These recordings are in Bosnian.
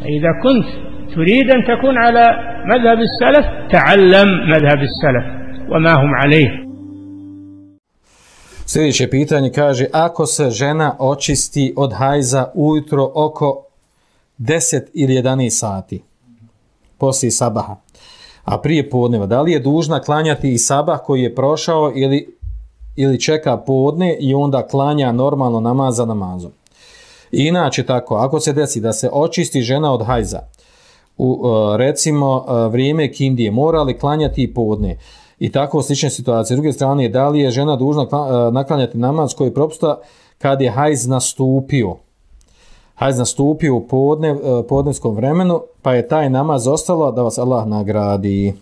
إذا كنت تريد أن تكون على مذهب السلف تعلم مذهب السلف وما هم عليه. Sljedeće pitanje kaže, ako se žena očisti od hajza ujutro oko 10 ili 11 sati poslije sabaha, a prije podneva, da li je dužna klanjati i sabah koji je prošao ili čeka podne i onda klanja normalno namaz za namazom? Inače tako, ako se desi da se očisti žena od hajza u recimo vrijeme kindije, mora li klanjati i podne? I tako slične situacije. S druge strane, da li je žena dužna naklanjati namaz koji propusta kad je hajz nastupio? Hajz nastupio u podnevskom vremenu, pa je taj namaz ostalo, da vas Allah nagradi.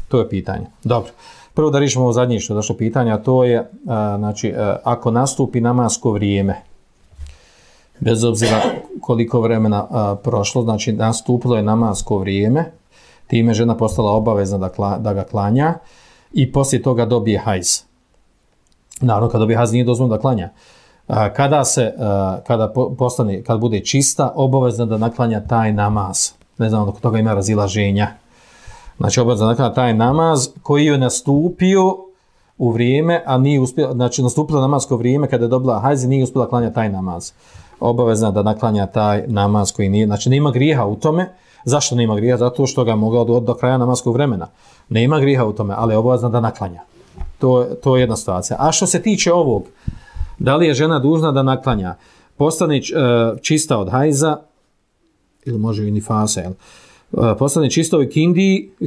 To je pitanje. Dobro. Prvo da riješimo ovo zadnje što je došlo pitanje, a to je znači, ako nastupi namasko vrijeme, bez obzira koliko vremena prošlo, znači nastupilo je namasko vrijeme, time žena postala obavezna da ga klanja i poslije toga dobije hajz. Naravno, kad dobije hajz nije dozvoljeno da klanja. Kad bude čista, obavezna da naklanja taj namaz. Ne znam, dok toga ima razilaženja. Znači, obavezna da naklanja taj namaz koji je nastupio u vrijeme, a nije uspjela, znači nastupilo namasko vrijeme kada je dobila hajz i nije uspjela klanjati taj namaz. Obavezna da naklanja taj namaz koji nije, znači nema grijeha u tome. Zašto nema grijeha? Zato što ga mogla do kraja namaskog vremena. Nema grijeha u tome, ali je obavezna da naklanja. To je jedna situacija. A što se tiče ovog, da li je žena dužna da naklanja? Postane čista od hajza, ili može i nifasa, postane čista u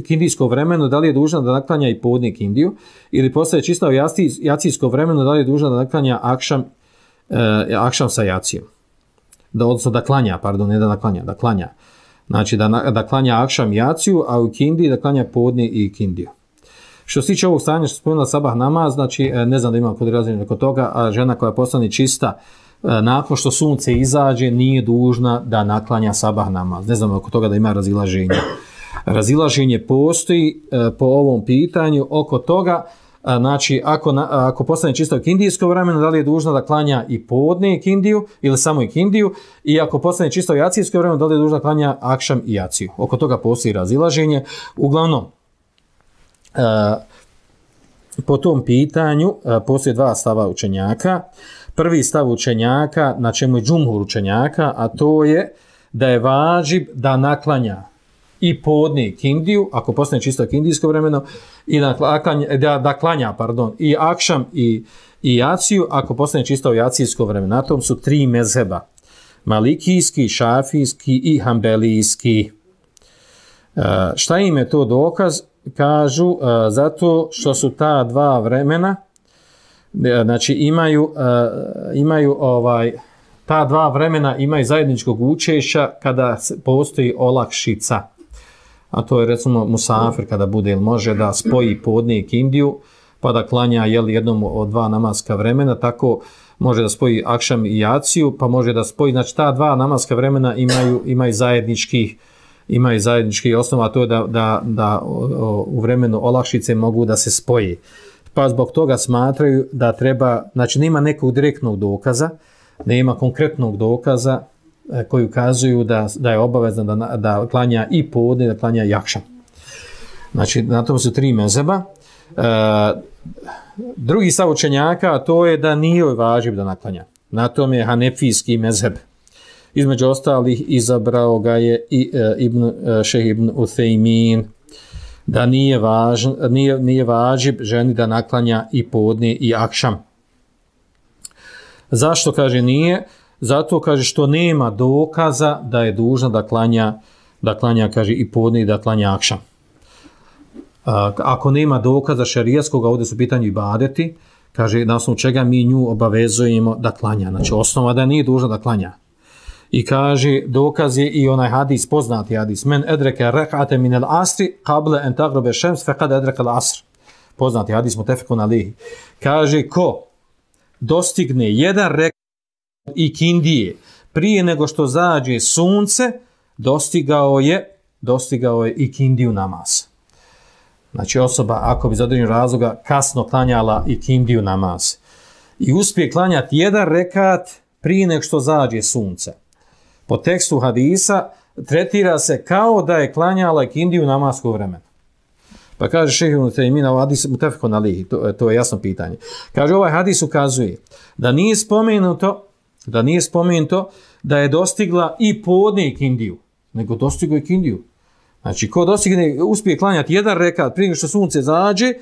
kindijsko vremenu, da li je dužna da naklanja i podne kindiju, ili postane čista u jacijsko vremenu, da li je dužna da naklanja akšam sa jacijom. Odnosno da klanja, pardon, ne da naklanja, da klanja. Znači da klanja akšam jaciju, a u kindiji da klanja podne i kindiju. Što se tiče ovog stanja što spomenula sabah namaz, znači ne znam da imam kod razine kod toga, a žena koja postane čista nakon što sunce izađe nije dužna da naklanja sabah namaz. Ne znam oko toga da ima razilaženje. Razilaženje postoji po ovom pitanju oko toga, znači ako postane čista u kindijsko vremenu, da li je dužna da klanja i podne i kindiju ili samo i kindiju, i ako postane čista u jacijsko vremenu, da li je dužna da klanja akšam i jaciju. Oko toga postoji razilaženje. Uglavnom, po tom pitanju postoje dva stava učenjaka. Prvi stav učenjaka, na čemu je džumhur učenjaka, a to je da je važib da naklanja i podne kindiju, ako postane čisto kindijsko vremeno, i da klanja i akšam i jaciju, ako postane čisto jacijsko vremeno. Na tom su tri mezheba: malikijski, šafijski i hambelijski. Šta im je to dokaz? Kažu zato što su ta dva vremena, znači imaju ta dva vremena imaju zajedničkog učešća kada postoji olakšica. A to je recimo musafir kada bude ili može da spoji podne i kindiju pa da klanja jednom od dva namaska vremena, tako može da spoji akšam i jaciju, pa može da spoji, znači ta dva namaska vremena imaju zajednički osnova, a to je da u vremenu olakšice mogu da se spoji. Pa zbog toga smatraju da treba, znači nema nekog direktnog dokaza, nema konkretnog dokaza koji ukazuju da je obavezno da klanja i podne, da klanja i akšam. Znači na tom su tri mezheba. Drugi stav učenjaka, to je da nije važib da naklanja. Na tom je hanefijski mezheb. Između ostalih izabrao ga je i šejh ibn Uthejmin, da nije važib ženi da naklanja i podne i akšam. Zašto kaže nije? Zato kaže što nema dokaza da je dužna da klanja kaže i podne i da klanja akšam. Ako nema dokaza šerijatskog, ovdje su pitanju ibadeti, kaže na osnovu čega mi nju obavezujemo da klanja. Znači osnova da nije dužna da klanja. I kaže, dokaz je i onaj hadis, poznati hadis, men edreke rek'ate min al-asri qable en tagrobe šems fekad edreke al-asr. Poznati hadis, mutefekun alihi. Kaže, ko dostigne jedan rekat i kindije prije nego što zađe sunce, dostigao je i kindiju namaz. Znači osoba, ako bi za određenog razloga kasno klanjala i kindiju namaz i uspije klanjati jedan rekat prije nego što zađe sunce, po tekstu hadisa tretira se kao da je klanjala ikindiju namaskog vremena. Pa kaže šejh Ibn Tejmija u hadisu mutafekun alejhi, to je jasno pitanje. Kaže ovaj hadis ukazuje da nije spomenuto da je dostigla i podne ikindiju, nego dostigla ikindiju. Znači ko uspije klanjati jedan rekat prije što sunce zađe,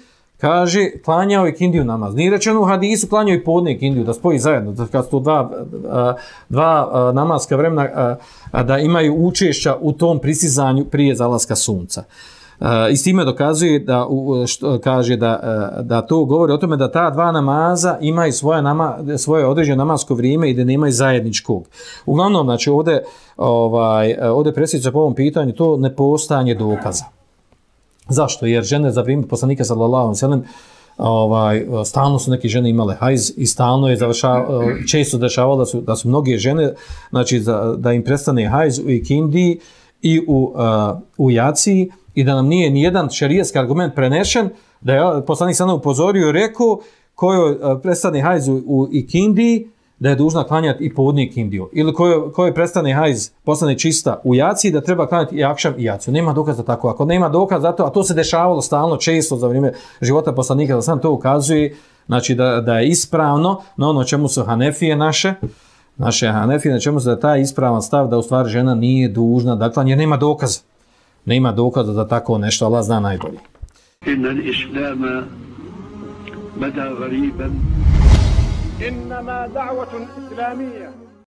kaže klanjao ikindiju namaz. Nije rečeno u hadisu klanjao i podne ikindiju, da spoji zajedno, da kad su to dva namaska vremena da imaju učešća u tom prisizanju prije zalaska sunca. I s time dokazuje kaže da to govori o tome da ta dva namaza imaju svoje određeno namasko vrijeme i da nemaju zajedničkog. Uglavnom, znači ovdje presjeća po ovom pitanju to nepostojanje dokaza. Zašto? Jer žene za vrijeme poslanika sallallahu alejhi ve sellem stalno su neke žene imale hajz i stalno je često dešavalo da su mnoge žene, znači da im prestane hajz u ikindiji i u jaciji, i da nam nije nijedan šerijatski argument prenešen, da je poslanik sallallahu upozorio i rekao kojoj prestane hajz u ikindiji, da je dužna klanjati i podne ikindiju. Ili kojoj prestane hajz, postane čista u jaciji, da treba klanjati i akšam i jaciju. Nema dokaza tako. Ako nema dokaza za to, a to se dešavalo stalno, često za vrijeme života poslanika, da sam to ukazuje, znači da je ispravno na ono čemu su Hanefije naše Hanefije, na čemu se da taj ispravan stav da u stvari žena nije dužna da klanja, jer nema dokaza. Nema dokaza da tako nešto, Allah zna najbolje. Inna al-islama bada ghariban. إنما دعوة إسلامية